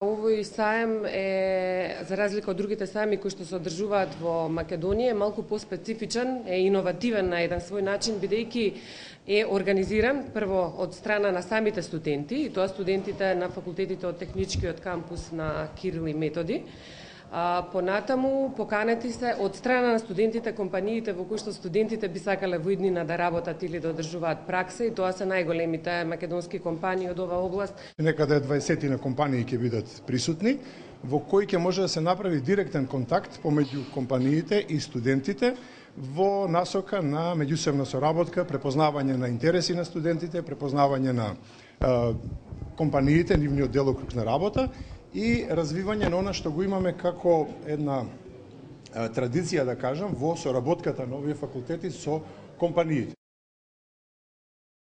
Овој саем е, за разлика од другите саеми кои што се одржуваат во Македонија, малку поспецифичен, е иновативен на еден свој начин, бидејќи е организиран прво од страна на самите студенти, и тоа студентите на факултетите од техничкиот кампус на Кирил и Методи. Понатаму поканети се од страна на студентите компаниите во кои што студентите би сакале во иднина да работат или да одржуваат пракса, и тоа се најголемите македонски компании од оваа област. Некаде 20 на компании ќе бидат присутни, во кои ќе може да се направи директен контакт помеѓу компаниите и студентите во насока на меѓусебна соработка, препознавање на интереси на студентите, препознавање на компаниите, нивниот делокруг на работа и развивање на она што го имаме како една традиција, да кажам, во соработката на овие факултети со компаниите.